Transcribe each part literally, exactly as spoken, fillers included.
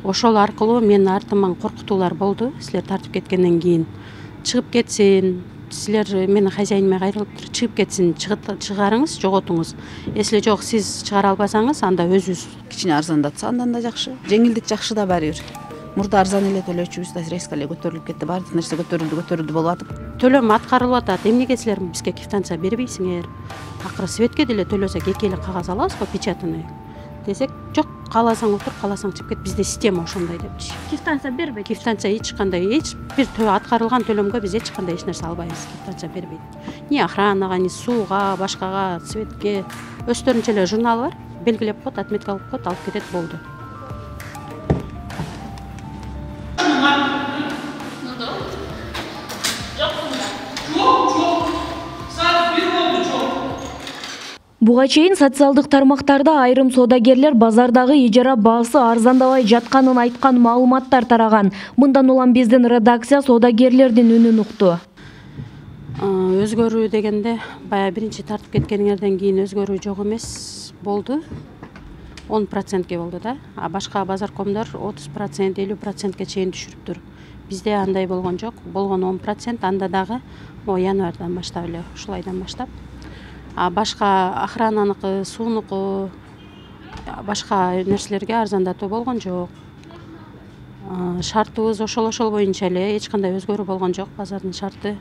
ошол аркылуу менин артыман коркутуулар болду. Силер тартып кеткенден кийин чыгып кетсин, силер менин хозяиниме кайрылып туруп чыгып кетсин, чыгарыңыз, жоготуңуз. Если жок, сиз чыгара албасаңыз, анда өзүбүз кичине арзандатса андан да жакшы. Жеңилдик жакшы да баары бир. Мурда арзан эле төлөчүбүз да резко эле көтөрүлүп кетти. Баардык нерсе көтөрүлдү, көтөрүлдү болуп атып. Төлөм аткарылып атат. Эмнеге силер бизге квитанция бербейсиңер? Акыры светке деле төлөсөк эки эле кагаз алабызбы, печатный десек, жок, кааласаң отур, кааласаң чыгып кет. Бизде система ошондой депчи. Квитанция бербейт. Квитанция эч кандай, эч бир аткарылган төлөмгө биз эч кандай эч нерсе албайбыз. Квитанция бербейт. Ни охранага, ни сууга, башкага, светке. Өздөрүнчө эле журналы бар. Белгилеп коет, отметка кылып коет, алып кетет, болду. Буга чейин социалдык тармактарда айрым соодагерлер базардагы ижара баасы арзандабай жатканын айткан маалыматтар тараган. Мындан улам биздин редакция соодагерлердин үнүн укту. Өзгөрүү дегенде, бая биринчи тартып кеткениңерден кийин өзгөрүү жок эмес болду. он процентке болду да. А башка базаркомдор отуз процент, элүү процентке чейин түшүрүптүр. Бизде андай болгон жок. Болгон он процент, анда дагы январдан баштап эле, ушул айдан баштап. А башка охрананыкы, суунуку, башка нерселерге арзандатуу болгон жок. Шартыбыз ошол ошол боюнча эле, эч кандай өзгөрүү болгон жок. Базардын шарты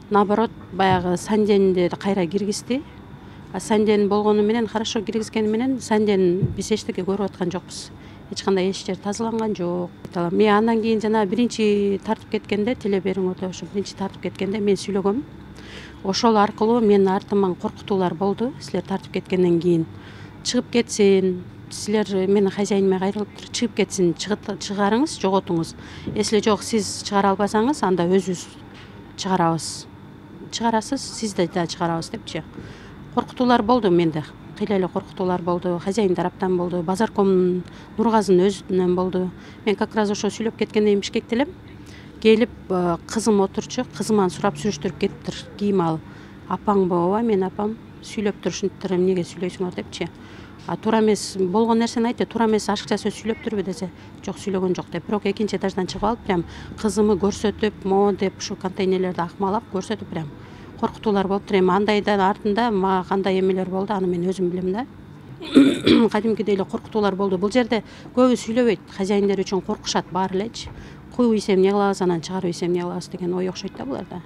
наоборот, баягы санденди кайра киргизди. А санден болгону менен, хорошо киргизгени менен, санден биз эчтеке көрүп аткан жокпуз. Эч кандай эч жер тазаланган жок. Мен андан кийин жана биринчи тартып кеткенде, телебериң өтө ошо биринчи тартып кеткенде мен сүйлөгөм. Ошол аркылуу менин артыман коркутуулар болду. Силер тартып кеткенден кийин чыгып кетсин, силер менин хозяиниме кайрылып туруп чыгып кетсин, чыгарыңыз, жоготуңуз. Если жок, сиз чыгара албасаңыз, анда өзүбүз чыгарабыз. Чыгарасыз, сиз да чыгарабыз депчи. Коркутуулар болду менде. Кыйла эле коркутуулар болду. Хозяин тараптан болду. Базарком Нургазынын өзүнөн болду. Мен как раз ошо сүйлөп кеткенден Бишкекте элем. Келип кызым отурчу, кызыман сурап сүрүштүрүп кетиптир. Кийим ал. Апаңбы? Ооба, мен апам. Сүйлөп турушуптур, эмнеге сүйлөйсүңөр депчи. А туура эмес болгон нерсени айтты. Туура эмес ашыкча сөз сүйлөптүрбү десе, жок, сүйлөгөн жок деп. Бирок экинчи этаждан чыгып алып, прям кызымы көрсөтүп, мо деп ушу контейнерлерди акмалап көрсөтүп, прям коркутуулар болуптур. Эми андайдан артында мага кандай эмелер болду, аны мен өзүм билем да. Кадимкидей эле коркутуулар болду. Бул жерде көбү сүйлөбөйт. Хозяиндер үчүн коркушат баары элечи. Куюп ийсем эмне кылабыз, анан чыгарып ийсем эмне кылабыз деген ой окшойт да буларда.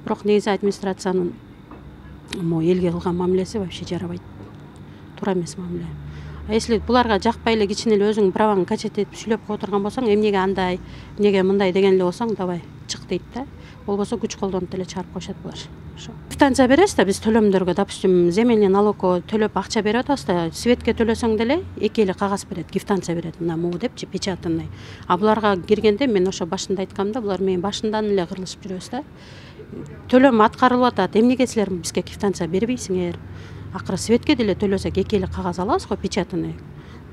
Бирок негизи администрациянын мо элге кылган мамилеси вообще жарабайт. Туура эмес мамиле. А если буларга жакпай эле кичине эле өзүң праваңды качет этип сүйлөп кое турган болсоң, эмнеге андай, эмнеге мындай деген эле болсоң, давай чык дейт да. Болбосо күч колдонуп эле чыгарып коюшат булар. Квитанция беребиз да биз төлөмдөргө, допустим, земельный налогко төлөп акча берип атабыз да, светке төлөсөң деле эки эле кагаз берет, квитанция берет, мына могу депчи, печатный. А буларга киргенде мен ошо башында айткам да, булар менин башындан эле кырылышып жүрөбүз да. Төлөм аткарылып атат. Эмнеге силер бизге квитанция бербейсиңер? Акыры светке деле төлөсөк эки эле кагаз алабыз го, печатный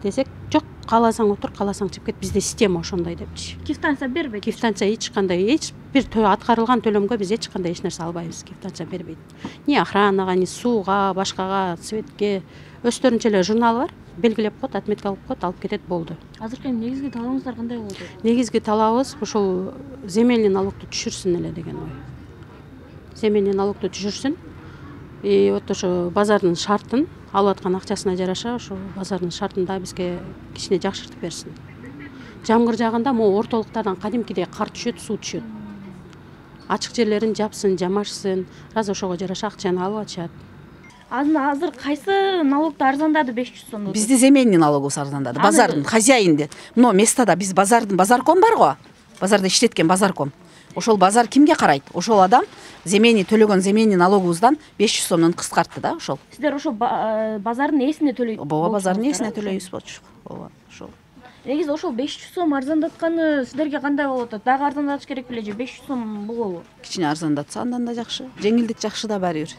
десек, жок, кааласаң отур, кааласаң чыгып кет. Бизде система ошондой депчи. Квитанция бербейт. Квитанция эч кандай, эч бир аткарылган төлөмгө биз эч кандай эч нерсе албайбыз. Квитанция бербейт. Ни охранага, ни сууга, башкага, светке. Өздөрүнчө эле журналы бар. Белгилеп коет, отметка кылып коет, алып кетет, болду. Азыркы негизги талабыңыздар кандай болду? Негизги талабыбыз ушул земельный налогду түшүрсүн эле деген ой. Земельный налогду түшүрсүн. И вот ошо базардын шартын, алып аткан акчасына жараша, ошо базардын шартын да бизге кичине жакшыртып берсин. Жамгыр жааганда могу ортолуктардан кадимкидей кар түшөт, суу түшөт. Ачык жерлерин жапсын, жамашсын, раз ошого жараша акчаны алып атышат. Азыр кайсы налогду арзандады беш жүз сом? Бизде земельный налогубуз арзандады. Базардын хозяинди. Мына местада биз базардын базарком бар го. Базарда иштеткен базарком. Ошол базар кимге карайт? Ошол адам земельный төлөгөн земельный налогубуздан беш жүз сомдон кыскартты да ошол. Сиздер ошол базардын ээсине төлөйсүздөр? Ооба, базардын ээсине төлөйбүз болчу. Ооба, ошол. Негизи ошол беш жүз сом арзандатканы сиздерге кандай болуп атат? Дагы арзандатыш керек беле же беш жүз сом болобу? Кичине арзандатса андан да жакшы. Жеңилдик жакшы да баары бир.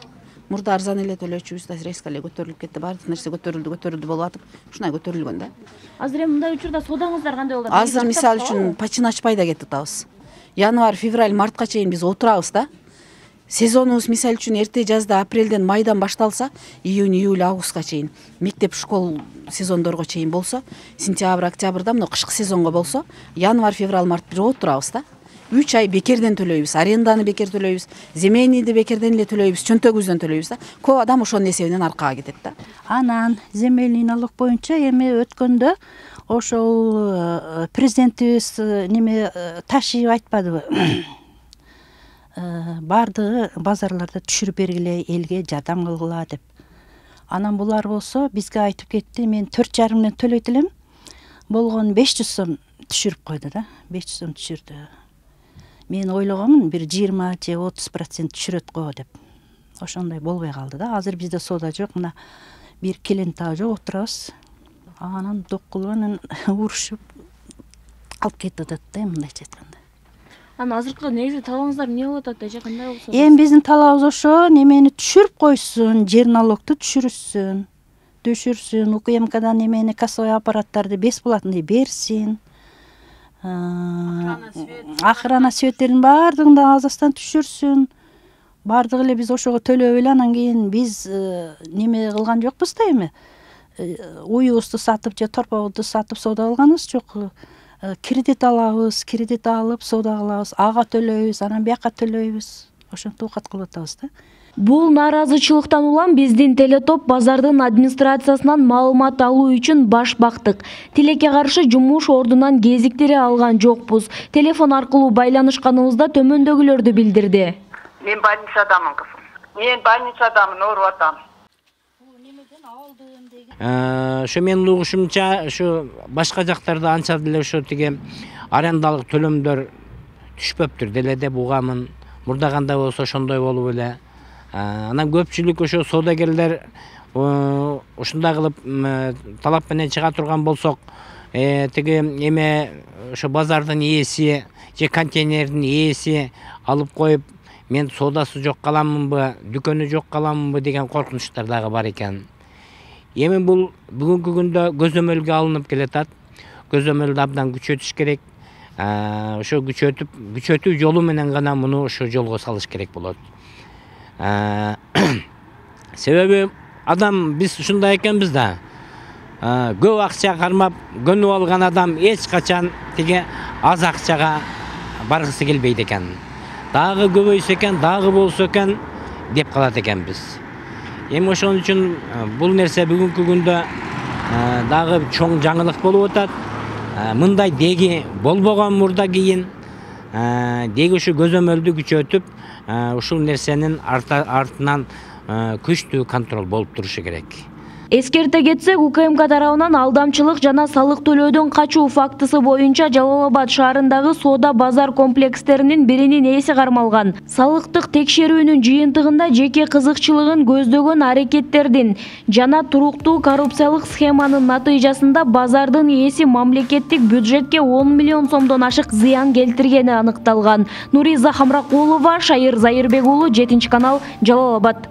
Мурда арзан эле төлөчүбүз да резко эле көтөрүлүп кетти. Баардык нерсе көтөрүлдү, көтөрүлдү болуп атып, ушундай көтөрүлгөн да. Азыр эми мындай учурда соодаңыздар кандай болот? Азыр мисалы үчүн почти ачпай да кетип атабыз. Январь, февраль, мартка чейин биз отурабыз да. сезонубуз мисалы үчүн эрте жазда апрелден майдан башталса, июнь, июль, августка чейин мектеп школ сезондорго чейин болсо, сентябрь, октябрда мына кышкы сезонго болсо, январь, февраль, март жооп турабыз да. үч ай бекерден төлөйбүз, аренданы бекер төлөйбүз, земельныйды бекерден эле төлөйбүз, чөнтөгүбүздөн төлөйбүз да. Көп адам ошонун эсебинен аркага кетет да. Анан земельный налог боюнча эми өткөндө ошол президентибиз неме ташыйып айтпадыбы? Бардыгы базарларда түшүрүп бергиле, элге жардам кылгыла деп. Анан булар болсо бизге айтып кетти, мен төрт жарым миңден төлөйт элем. Болгон беш жүз сом түшүрүп койду да, беш жүз сом түшүрдү. Мен ойлогомун бир жыйырма же отуз процент түшүрөт го деп. Ошондой болбой калды да. Азыр бизде соода жок, мына бир келин таа жок отурабыз. Анан доккулуп анан урушуп алып кетип атат да, мындайча айтканда. Анан азыркы негизи талабыңыздар эмне болуп атат эже, кандай болсо? Эми биздин талабыбыз ошо, немени түшүрүп койсун, жер налогту түшүрүшсүн. Түшүрсүн, УКМКдан немени кассовый аппараттарды бесплатный берсин. Охрана светтерин баардыгын да азастан түшүрсүн. Баардыгы эле биз ошого төлөп эле анан кийин биз неме кылган жокпуз да эми. Уюбузду сатып же торпобузду сатып соода кылганыбыз жок. Кредит алабыз, кредит алып соода кылабыз, ага төлөйбүз, анан бияка төлөйбүз. Ошентип оокат кылып атабыз да. Бул нааразычылыктан улам биздин Телетоп базардын администрациясынан маалымат алуу үчүн баш бактык. Тилекке каршы жумуш ордунан кезиктире алган жокпуз. Телефон аркылуу байланышканыбызда төмөндөгүлөрдү билдирди. Мен больницадамын кызым. Мен больницадамын, ооруп атам. Ошо менин угушумча, ушу башка жактарда анча деле ошо тиги арендалык төлөмдөр түшпөптүр деле деп угамын. Мурда кандай болсо ошондой болуп эле. Анан көпчүлүк ошо соодагерлер ушундай кылып талап менен чыга турган болсок, тиги эме ошо базардын ээси же контейнердин ээси алып коюп, мен соодасы жок каламынбы, дүкөнү жок каламынбы деген коркунучтар дагы бар экен. Эми бул бүгүнкү күндө көзөмөлгө алынып келатат. Көзөмөлдү абдан күчөтүш керек. Ошо күчөтүп, күчөтүү жолу менен гана муну ошо жолго салыш керек болот. Себеби адам биз ушундай экенбиз да. Көп акча кармап көнүп алган адам эч качан тиги аз акчага баргысы келбейт экен. Дагы көбөйсө экен, дагы болсо экен деп калат экенбиз. Эми ошон үчүн бул нерсе бүгүнкү күндө дагы чоң жаңылык болуп атат. Мындай деги болбогон мурда кийин. Деги ушу көзөмөлдү күчөтүп, ушул нерсенин артынан күчтүү контроль болуп турушу керек. Эскерте кетсек, УКМК тарабынан алдамчылык жана салык төлөөдөн качуу фактысы боюнча Жалал Абад шаарындагы соода базар комплекстеринин биринин ээси кармалган. Салыктык текшерүүнүн жыйынтыгында жеке кызыкчылыгын көздөгөн аракеттердин жана туруктуу коррупциялык схеманын натыйжасында базардын ээси мамлекеттик бюджетке он миллион сомдон ашык зыян келтиргени аныкталган. Нуриза Хамракулова, Шайыр Зайырбек уулу, жетинчи канал, Жалал Абад.